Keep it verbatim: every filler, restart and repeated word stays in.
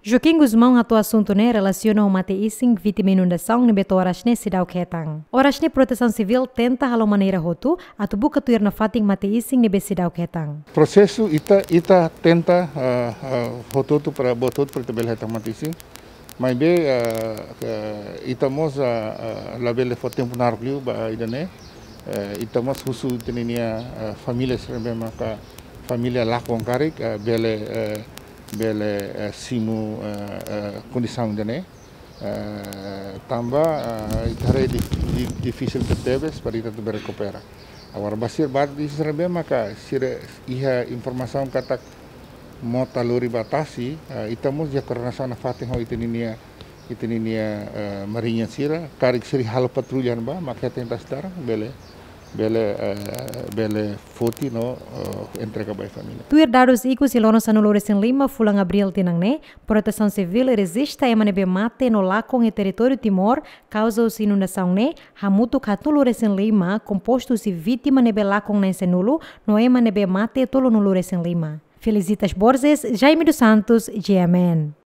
Joaquim Gusmão hato'o asuntu ne'e relasiona ho mate-isin vítima inundasaun ne'ebé to'o oras ne'e seidauk hetan. Oras ne'e Protesaun Sivíl tenta halo maneira hotu atu buka tuir nafatin mate-isin ne'ebé seidauk hetan. Prosesu ita, ita tenta, ah, ah, hotu-hotu para, buat hotu para ita bele hetan mate-isin. Maibé, ah, ah, ita mós, ah, ah, labele fó tempu naruk liu ba ida-ne'e. Eh, ita mós husu ita-nia, ah, família sira ne'ebé maka família lakon karik, ah, bele, eh, bele, eh, simu, eh, eh, kondisaun ida-ne'e. Eh, tanba, eh, ita haree di, di, difisil tebetebes para ita atu bele rekupera. Agora, ba sira, ba sira ne'ebé maka sira iha informasaun katak mota lori ba tasi, eh, ita mós iha koordenasaun nafatin ho ita-nia, ita-nia, eh, mariña sira, karik sira halo patrulla ba, maka ita tenta estar, bele, bele, eh, bele foti no, eh, entrega ba família. Tuir dadus ikus iha loron sanulu-resin-lima fulan Abríl tinan ne'e, Protesaun Sivíl rejista ema ne'ebé mate no lakon iha territóriu Timor kauza husi inundasaun ne'e, hamutuk haatnulu-resin-lima, kompostu husi vítima ne'ebé lakon na'in-sanulu, no ema ne'ebé mate tolunulu-resin-lima. Felicitas Borges, Jaime dos Santos, G M N.